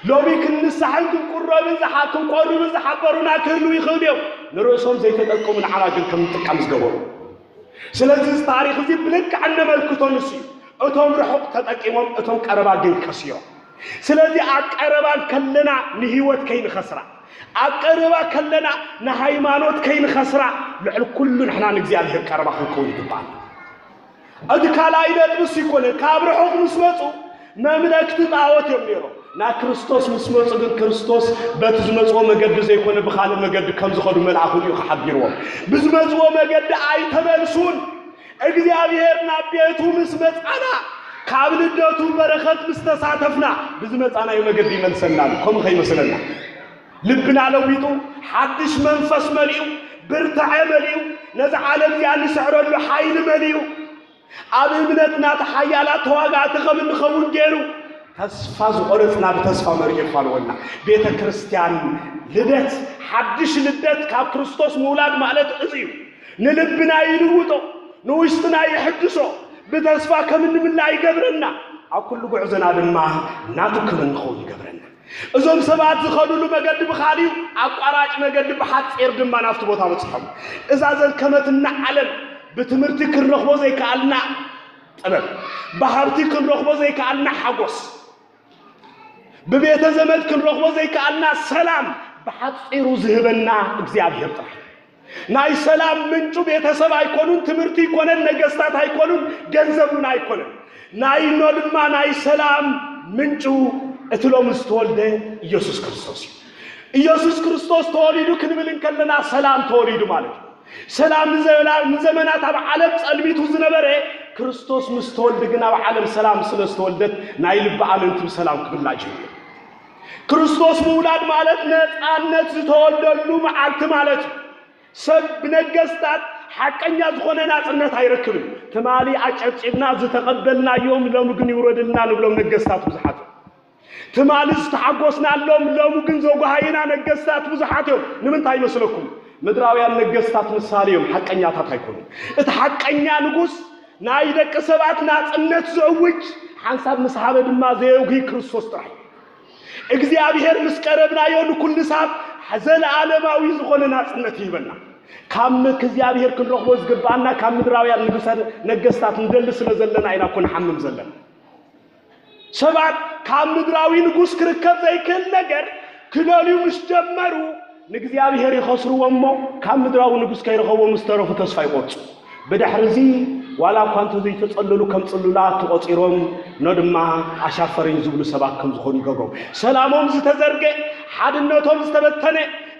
ሎሚ ክንንሳሕን ክንቁረብን ዝሓ- ክንቆርብን ዝሓበሩና ክህሉ ይኽእሉ እዮም። ንርእሶም ዘይተጠቀሙ ንዓና ግን ከም ንጥቀም ዝገበሩ። ስለዚ እዚ ታሪኽ እዚ ብልክዕ እነመልክቶ ንሱ እዩ። እቶም ርሑቕ ተጠቂሞም እቶም ቀረባ ግን ከስዮም። ስለዚ ኣብ ቀረባ ከለና ንህይወት ከይንኸስራ፣ ኣብ ቀረባ ከለና ንሃይማኖት ከይንኸስራ ልዕሊ ኩሉ ንሕና ንእግዚኣብሔር ቀረባ ክንከውን ይግባል። እቲ ካልኣይ ነጥብስ ይኮነ ካብ ርሑቕ ምስ መፁ መምለክቲ ጣዖት እዮም ነይሮም። ናብ ክርስቶስ ምስ መፁ ግን ክርስቶስ በቲ ዝመፅዎ መገዲ ዘይኮነ ብኻልእ መገዲ ከም ዝኸዱ መልኣኹ እዩ ሓቢርዎም። ብዝመፅዎ መገዲ ኣይተመልሱን። እግዚኣብሔር ናብ ቤቱ ምስ መፃና ካብ ልደቱ በረኸት ምስ ተሳተፍና ብዝመፃናዮ መገዲ ይመልሰና ኣሎ። ከምኡ ከይመስለና ልብና ለዊጡ ሓድሽ መንፈስ መሊኡ ብርታዐ መሊኡ ነዚ ዓለም እዚኣ ንስዕረሉ ሓይሊ መሊኡ ኣብ እምነትና ተሓያላት ተዋጋእቲ ከም እንኸውን ገይሩ ተስፋ ዝቆረፅና ብተስፋ መሪሑ ይፋልወና። ቤተ ክርስቲያን ልደት ሓድሽ ልደት ካብ ክርስቶስ ምውላድ ማለት እዚ እዩ። ንልብና ይልውጦ፣ ንውሽጥና ይሕድሶ፣ ብተስፋ ከም እንምላ ይገብረና፣ ኣብ ኩሉ ጉዕዞና ድማ ናቱ ክብሪ ንኸውን ይገብረና። እዞም ሰባት ዝኸዱሉ መገዲ ብኻልዩ ኣቋራጭ መገዲ ብሓፂር ድማ ናብቲ ቦታ በፅሖም። እዛ ዘልከመትና ዓለም ብትምህርቲ ክንረኽቦ ዘይከኣልና ጥበብ፣ ብሃብቲ ክንረኽቦ ዘይከኣልና ሓጎስ፣ ብቤተ ዘመድ ክንረኽቦ ዘይከኣልና ሰላም ብሓፂሩ ዝህበና እግዚኣብሔር ጥራሕ። ናይ ሰላም ምንጩ ቤተሰብ ኣይኮኑን፣ ትምህርቲ ኣይኮነን፣ ነገስታት ኣይኮኑን፣ ገንዘብ እውን ኣይኮነን። ናይኖ ድማ ናይ ሰላም ምንጩ እቲ ሎሚ ዝተወልደ ኢየሱስ ክርስቶስ እዩ። ኢየሱስ ክርስቶስ ተወሊዱ ክንብል እንከለና ሰላም ተወሊዱ ማለት እዩ። ሰላም ንዘላ- ንዘመናት ኣብ ዓለም ጸልሚቱ ዝነበረ ክርስቶስ ምስ ተወልደ ግን ኣብ ዓለም ሰላም ስለ ዝተወልደት ናይ ልቢ ኣመንቲ ብሰላም ክብላዕ ጀሚሩ። ክርስቶስ ምውላድ ማለት ነጻነት ዝተወልደሉ መዓልቲ ማለት እዩ። ሰብ ብነገስታት ሓቀኛ ዝኾነ ናጽነት ኣይረክብን። ትማሊ ኣጨብጭብና ዝተቐበልናዮም ሎሚ ግን ይውረድልና ንብሎም ነገስታት ብዙሓት እዮም። ትማሊ ዝተሓጎስናሎም ሎሚ ግን ዘጓሃዩና ነገስታት ብዙሓት እዮም። ንምንታይ ይመስለኩም? ምድራውያን ነገስታት ምሳሌ እዮም፣ ሓቀኛታት ኣይኮኑን። እቲ ሓቀኛ ንጉስ ናይ ደቂ ሰባት ናጽነት ዘእውጅ፣ ሓንሳብ ምስ ሃበ ድማ ዘየጉሂ ክርስቶስ ጥራሕ እዩ። እግዚኣብሔር ምስ ቀረብናዮ ንኩሉ ሰብ ዘለኣለማዊ ዝኾነ ናጽነት ይህበና። ካብ ምክ እግዚኣብሔር ክንረኽቦ ዝግብኣና ካብ ምድራውያን ንጉሰ ነገስታት ንደሊ ስለ ዘለና ኢና እኮ ንሓምም ዘለና። ሰባት ካብ ምድራዊ ንጉስ ክርከብ ዘይክእል ነገር ክደልዩ ምስ ጀመሩ ንእግዚኣብሔር ይኸስርዎ እሞ ካብ ምድራዊ ንጉስ ከይረኸቦ ምስ ተረፉ ተስፋ ይቆርጹ። ብድሕሪ እዚ ዋላ እኳ እንተ ዘይተጸለሉ ከም ጽሉላት ተቖጺሮም ኖ ድማ ኣሻፈረኝ ዝብሉ ሰባት ከም ዝኾኑ ይገብሮም። ሰላሞም ዝተዘርገ፣ ሓድነቶም ዝተበተነ፣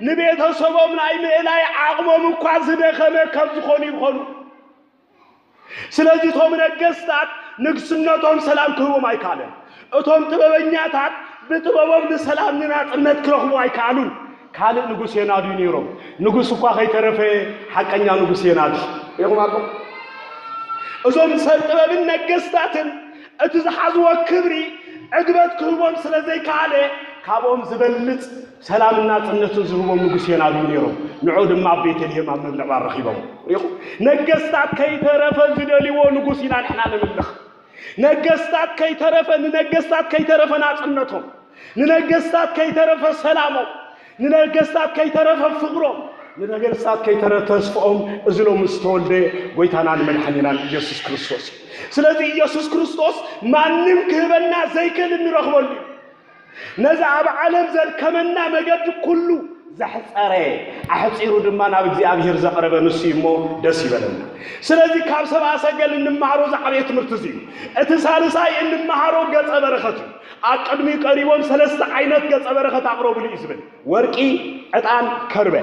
ንቤተሰቦም ናይ ምእላይ ዓቕሞም እኳ ዝደኸመ ከም ዝኾኑ ይኾኑ። ስለዚ እቶም ነገስታት ንግስነቶም ሰላም ክህቦም ኣይከኣለን። እቶም ጥበበኛታት ብጥበቦም ንሰላም ንናጽነት ክረኽቡ ኣይከኣሉን። ካልእ ንጉስ የናድዩ ነይሮም። ንጉስ እኳ ከይተረፈ ሓቀኛ ንጉስ የናድዩ። ሪኢኹም ኣለኹም? እዞም ሰብ ጥበብን ነገስታትን እቲ ዝሓዝዎ ክብሪ ዕግበት ክህቦም ስለ ዘይከኣለ፣ ካብኦም ዝበልጽ ሰላምን ናጽነትን ዝህቦም ንጉስ የናድዩ ነይሮም። ንዑ ድማ ኣብ ቤተልሔም ኣብ መብልዕ ባር ረኺቦም። ሪኢኹም? ነገስታት ከይተረፈ ዝደልይዎ ንጉስ ኢና ንሕና ንምልኽ። ነገስታት ከይተረፈ፣ ንነገስታት ከይተረፈ ናጽነቶም፣ ንነገስታት ከይተረፈ ሰላሞም፣ ንነገስታት ከይተረፈ ፍቕሮም፣ ንነገስታት ከይተረፈ ተስፍኦም፣ እዚ ሎሚ ዝተወልደ ጎይታናን መድሓኒናን ኢየሱስ ክርስቶስ እዩ። ስለዚ ኢየሱስ ክርስቶስ ማንም ክህበና ዘይክእል እንረኽበሉ እዩ። ነዚ ኣብ ዓለም ዘድከመና መገዲ ኩሉ ዘሕጸረ፣ ኣሕጺሩ ድማ ናብ እግዚኣብሔር ዘቕረበ ንሱ እዩ እሞ ደስ ይበለና። ስለዚ ካብ ሰብኣ ሰገል እንመሃሮ ዝዓበየ ትምህርቲ እዚ እዩ። እቲ ሳልሳይ እንመሃሮ ገጸ በረኸት እዩ። ኣብ ቅድሚኡ ቀሪቦም ሰለስተ ዓይነት ገጸ በረኸት ኣቕረቡሉ እዩ ዝብል። ወርቂ፣ ዕጣን፣ ከርበ።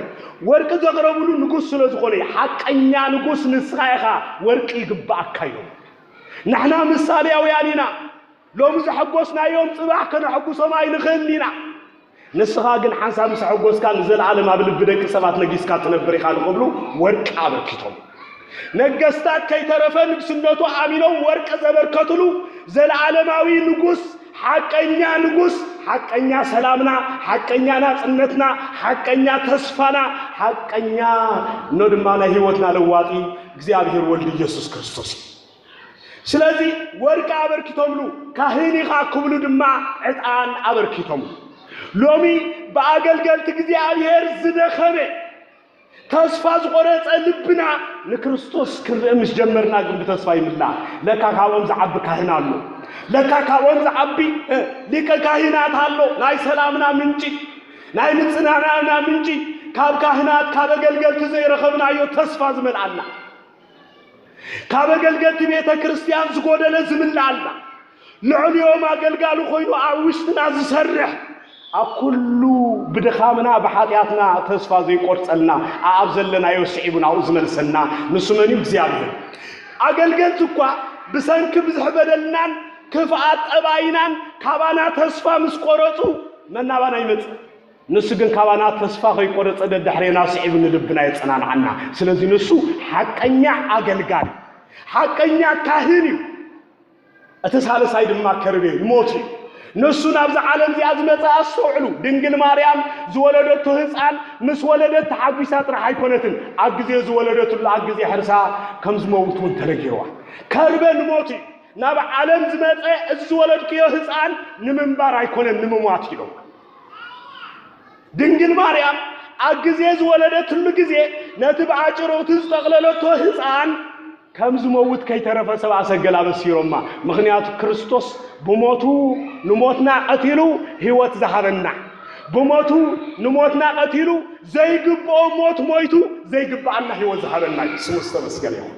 ወርቂ ዘቕረቡሉ ንጉስ ስለ ዝኾነ እዩ። ሓቀኛ ንጉስ ንስኻ ኢኻ፣ ወርቂ ይግብኣካ ኢሎም። ንሕና ምሳሌያውያን ኢና። ሎሚ ዘሐጎስናዮም ጽባሕ ከነሐጉሶም ኣይንኽእልን ኢና። ንስኻ ግን ሓንሳብ ምስ ኣሐጎስካ ንዘለኣለም ኣብ ልቢ ደቂ ሰባት ነጊስካ ትነብር ኢኻ ንኽብሉ ወርቂ ኣበርኪቶም። ነገስታት ከይተረፈ ንግስነቱ ኣሚኖም ወርቂ ዘበርከትሉ ዘለኣለማዊ ንጉስ፣ ሓቀኛ ንጉስ፣ ሓቀኛ ሰላምና፣ ሓቀኛ ናጽነትና፣ ሓቀኛ ተስፋና፣ ሓቀኛ ኖ ድማ ናይ ህይወትና ለዋጢ እግዚኣብሔር ወልድ ኢየሱስ ክርስቶስ እዩ። ስለዚ ወርቂ ኣበርኪቶምሉ፣ ካህን ኢኻ ክብሉ ድማ ዕጣን ኣበርኪቶምሉ። ሎሚ ብኣገልገልቲ እግዚኣብሔር ዝደኸመ፣ ተስፋ ዝቖረጸ ልብና ንክርስቶስ ክንርኢ ምስ ጀመርና ግን ብተስፋ ይምላእ። ለካ ካብኦም ዝዓቢ ካህን ኣሎ። ለካ ካብኦም ዝዓቢ፣ እ፣ ሊቀ ካህናት ኣሎ። ናይ ሰላምና ምንጪ፣ ናይ ምጽንናዕና ምንጪ፣ ካብ ካህናት፣ ካብ ኣገልገልቲ ዘይረኸብናዮ ተስፋ ዝመልኣና። ካብ ኣገልገልቲ ቤተ ክርስቲያን ዝጎደለ ዝምልኣልና፣ ልዕሊኦም ኣገልጋሊ ኮይኑ ኣብ ውሽጥና ዝሰርሕ፣ ኣብ ኩሉ ብድኻምና ብሓጢኣትና ተስፋ ዘይቆርጸልና፣ ኣኣብ ዘለናዮ ስዒቡ ናብኡ ዝመልሰና ንሱ መን እዩ? እግዚኣብሔር። ኣገልገልቲ እኳ ብሰንኪ ብዝሕ በደልናን ክፍኣት ጠባይናን ካባና ተስፋ ምስ ቆረጹ መን ናባና ይመጽእ? ንሱ ግን ካባና ተስፋ ከይቆረጸ ደድሕሬና ስዒቡ ንልብና የጸናንዓና። ስለዚ ንሱ ሓቀኛ ኣገልጋሊ፣ ሓቀኛ ካህን እዩ። እቲ ሳልሳይ ድማ ከርቤ ንሞት እዩ። ንሱ ናብዛ ዓለም እዚኣ ዝመጸ ኣስተውዕሉ። ድንግል ማርያም ዝወለደቶ ህፃን ምስ ወለደት ተሓጒሳ ጥራሕ ኣይኮነትን። ኣብ ግዜ ዝወለደትሉ ኣብ ግዜ ሕርሳ ከም ዝመውት እውን ተነጊርዋ። ከርቤ ንሞት እዩ። ናብ ዓለም ዝመጸ እዚ ዝወለድክዮ ህፃን ንምንባር ኣይኮነን ንምሟት ኢሎም። ድንግል ማርያም ኣብ ግዜ ዝወለደትሉ ግዜ ነቲ ብኣጭርቕቲ ዝጠቕለለቶ ህፃን ከም ዝመውት ከይተረፈ ሰብኣ ሰገል ኣበሲሮማ። ምኽንያቱ ክርስቶስ ብሞቱ ንሞትና ቀቲሉ ህይወት ዝሃበና፣ ብሞቱ ንሞትና ቀቲሉ ዘይግብኦ ሞት ሞይቱ ዘይግብኣና ህይወት ዝሃበና እዩ። ስሙ ዝተመስገነ ይኹን።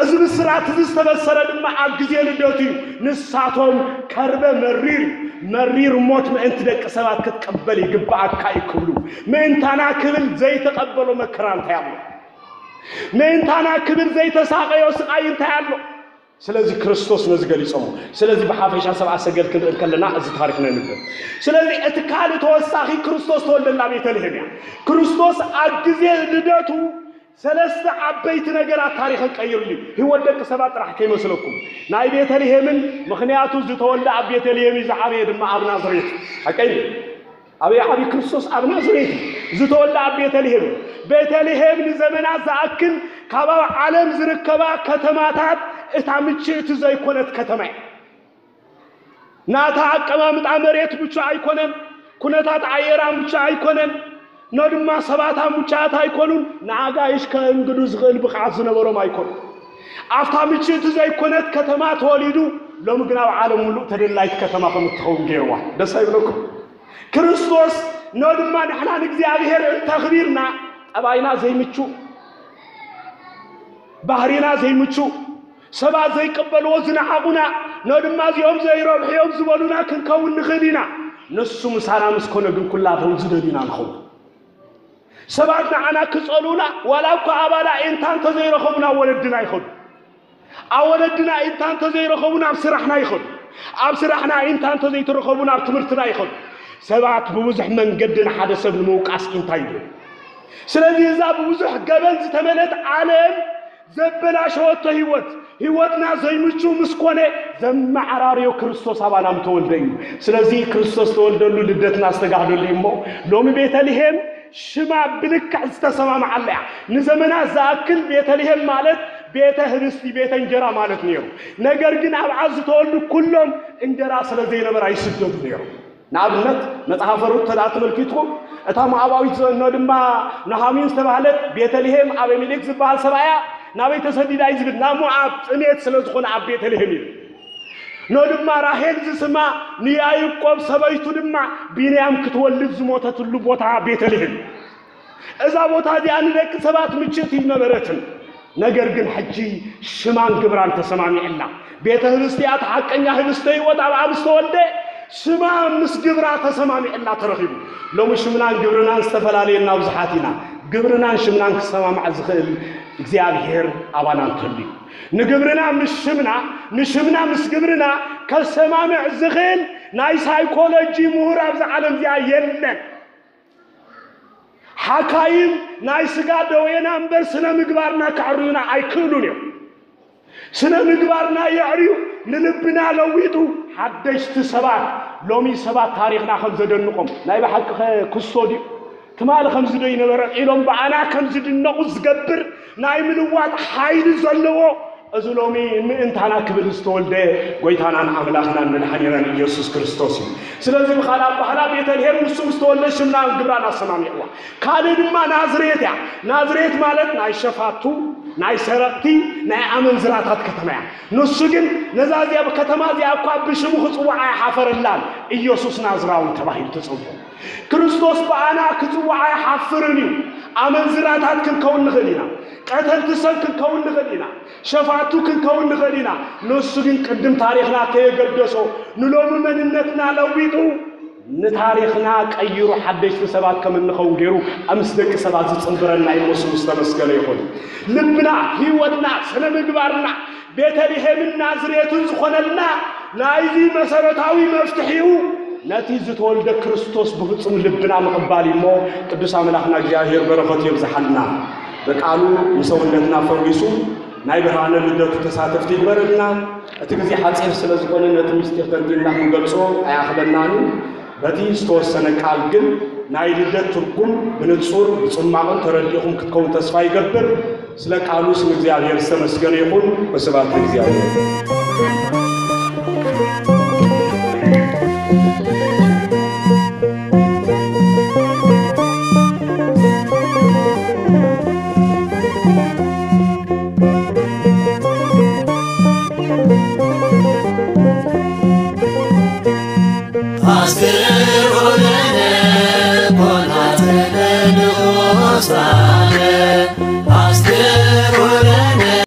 እዚ ብስራት እዚ ዝተበሰረ ድማ ኣብ ግዜ ልደቱ እዩ። ንሳቶም ከርበ መሪር እዩ፣ መሪር ሞት ምእንቲ ደቂ ሰባት ክትቀበል ይግብኣካ እዩ ክብሉ፣ ምእንታና ክብል ዘይተቐበሎ መከራ እንታይ ኣሎ? ምእንታና ክብል ዘይተሳቐዮ ስቓይ እንታይ ኣሎ? ስለዚ ክርስቶስ ነዚ ገሊጾሞ። ስለዚ ብሓፈሻ ሰብኣ ሰገል ክንርኢ ከለና እዚ ታሪኽ ነንብብ። ስለዚ እቲ ካልእ ተወሳኺ ክርስቶስ ተወልደላ ቤተልሔም እያ። ክርስቶስ ኣብ ግዜ ልደቱ ሰለስተ ዓበይቲ ነገራት ታሪኽን ቀይሩሉ እዩ። ህይወት ደቂ ሰባት ጥራሕ ከይመስለኩም። ናይ ቤተልሔምን፣ ምኽንያቱ ዝተወልደ ኣብ ቤተልሔም እዩ፣ ዝዓበየ ድማ ኣብ ናዝሬት። ሓቀይ እዩ። ኣበይ ዓብዪ? ክርስቶስ ኣብ ናዝሬት እዩ። ዝተወልደ ኣብ ቤተልሔም እዩ። ቤተልሔም ንዘመናት ዝኣክል ካብ ኣብ ዓለም ዝርከባ ከተማታት እታ ምችእቲ ዘይኮነት ከተማ እያ። ናታ ኣቀማምጣ መሬት ምቹእ ኣይኮነን፣ ኩነታት ኣየራ ምቹእ ኣይኮነን፣ ኖ ድማ ሰባታ ምቹኣት ኣይኮኑን፣ ንኣጋይሽ ከእንግዱ ዝኽእል ብቕዓት ዝነበሮም ኣይኮኑን። ኣብታ ምችእቲ ዘይኮነት ከተማ ተወሊዱ፣ ሎሚ ግን ኣብ ዓለም ሙሉእ ተደላይት ከተማ ከም እትኸውን ገይርዋ። ደስ ኣይብለኩም? ክርስቶስ ኖ ድማ ንሕና ንእግዚኣብሔር እንተኽቢርና፣ ጠባይና ዘይምቹእ፣ ባህሪና ዘይምቹእ፣ ሰባት ዘይቀበልዎ ዝነዓቑና፣ ኖ ድማ እዚኦም ዘይረብሑ እዮም ዝበሉና ክንከውን ንኽእል ኢና። ንሱ ምሳና ምስ ኮነ ግን ኩላቶም ዝደልዩና ንኸውን። ሰባት ንዓና ክጸልኡና፣ ዋላ እኳ ኣባና ኢንታ እንተዘይረኸቡ ናብ ወለድና ይኸዱ። ኣብ ወለድና ኢንታ እንተዘይረኸቡ ናብ ስራሕና ይኸዱ። ኣብ ስራሕና ኢንታ እንተዘይተረኸቡ ናብ ትምህርትና ይኸዱ። ሰባት ብብዙሕ መንገዲ ንሓደ ሰብ ንምውቃስ ኢንታ ይብሉ። ስለዚ እዛ ብብዙሕ ገበን ዝተመልአት ዓለም ዘበላሸወቶ ህይወት፣ ህይወትና ዘይምቹ ምስ ኮነ ዘመዓራርዮ ክርስቶስ ኣባና ምተወልደ እዩ። ስለዚ ክርስቶስ ተወልደሉ ልደትና ዝተጋህደሉ እዩ እሞ ሎሚ ቤተልሔም ሽማ ብልክዕ ዝተሰማምዓላ እያ። ንዘመናት ዝኣክል ቤተልሔም ማለት ቤተ ህብስቲ፣ ቤተ እንጀራ ማለት ነይሩ። ነገር ግን ኣብኣ ዝተወልዱ ኩሎም እንጀራ ስለ ዘይነበራ ይስደዱ ነይሩ። ንኣብነት መጽሓፈ ሩት ተዳ ተመልኪትኩም እታ ሞዓባዊት ዘእኖ ድማ ኑሃሚን ዝተባህለት ቤተልሔም ኣቤሜሌክ ዝበሃል ሰብኣያ ናበይ ተሰዲዳ እዩ ዝብል ናብ ሞዓብ ጥሜት ስለ ዝኾነ ኣብ ቤተልሔም እዩ። ኖ ድማ ራሄል ዝስማ ንያይቆብ ሰበይቱ ድማ ቢንያም ክትወልድ ዝሞተትሉ ቦታ ቤተልሔም። እዛ ቦታ እዚኣ ንደቂ ሰባት ምችእቲ ይነበረትን። ነገር ግን ሕጂ ሽማን ግብራን ተሰማሚዕላ። ቤተ ህብስቲ እያ፣ እቲ ሓቀኛ ህብስተ ህይወት ኣብ ኣብ ዝተወልደ ሽማ ምስ ግብራ ተሰማሚዕላ ተረኺቡ። ሎሚ ሽምናን ግብርናን ዝተፈላለየና ብዙሓት ኢና። ግብርናን ሽምናን ክሰማማዕ ዝኽእል እግዚኣብሔር ኣባና እንተልዩ፣ ንግብርና ምስ ሽምና፣ ንሽምና ምስ ግብርና ከሰማምዕ ዝኽእል ናይ ሳይኮሎጂ ምሁር ኣብዚ ዓለም እዚኣ የለን። ሓካይም ናይ ስጋ ደዌና እምበር ስነ ምግባርና ከዕርዩና ኣይክእሉን እዮም። ስነ ምግባርና የዕርዩ፣ ንልብና ለዊጡ ሓደሽቲ ሰባት። ሎሚ ሰባት ታሪኽና ከም ዘደንቖም ናይ ብሓቂ ክስቶ ድዩ? ትማሊ ከምዚ ዶ ይነበረ ኢሎም ብኣና ከም ዝድነቑ ዝገብር ናይ ምልዋጥ ሓይሊ ዘለዎ እዚ ሎሚ ምእንታና ክብል ዝተወልደ ጎይታናን ኣምላኽናን መድሓኒናን ኢየሱስ ክርስቶስ እዩ። ስለዚ ብኻልእ ኣባህላ ቤተልሔም ንሱ ምስ ተወልደ ሽምናን ግብራን ኣሰማሚዕዋ። ካልእ ድማ ናዝሬት እያ። ናዝሬት ማለት ናይ ሸፋቱ፣ ናይ ሰረቕቲ፣ ናይ ኣመንዝራታት ከተማ እያ። ንሱ ግን ነዛ እዚኣ ከተማ እዚኣ እኳ ብሽሙ ክጽውዓ ኣይሓፈረላን። ኢየሱስ ናዝራዊ ተባሂሉ ተጸውዖ። ክርስቶስ ብኣና ክጽዋዕ ኣይሓፍርን እዩ። ኣመንዝራታት ክንከውን ንኽእል ኢና። ቀተልቲ ሰብ ክንከውን ንኽእል ኢና። ሸፋቱ ክንከውን ንኽእል ኢና። ንሱ ግን ቅድም ታሪኽና ከየገደሶ ንሎሚ መንነትና ለዊጡ ንታሪኽና ቀይሩ ሓደሽቲ ሰባት ከም እንኸውን ገይሩ ምስ ደቂ ሰባት ዝጽንብረና እዩ። እሞ ስሙ ዝተመስገነ ይኹን። ልብና፣ ህይወትና፣ ስነ ምግባርና ቤተልሔምን ናዝሬትን ዝኾነልና ናይዚ መሰረታዊ መፍትሒኡ ነቲ ዝተወልደ ክርስቶስ ብፍጹም ልብና ምቕባል እዩ። እሞ ቅዱስ ኣምላኽና እግዚኣብሔር በረኸቱ የብዝሓልና። በቃሉ ንሰውነትና ፈዊሱ ናይ ብርሃነ ልደቱ ተሳተፍቲ ይግበረልና። እቲ ግዜ ሓጺር ስለ ዝኾነ ነቲ ምስጢር ተንቲንና ክንገልጾ ኣይኣኽለናን እዩ። በቲ ዝተወሰነ ቃል ግን ናይ ልደት ትርጉም ብንጹር ብጽማቕን ተረዲእኹም ክትከውን ተስፋ ይገብር። ስለ ቃሉ ስም እግዚኣብሔር ዝተመስገነ ይኹን። ወስብሐት ለእግዚኣብሔር።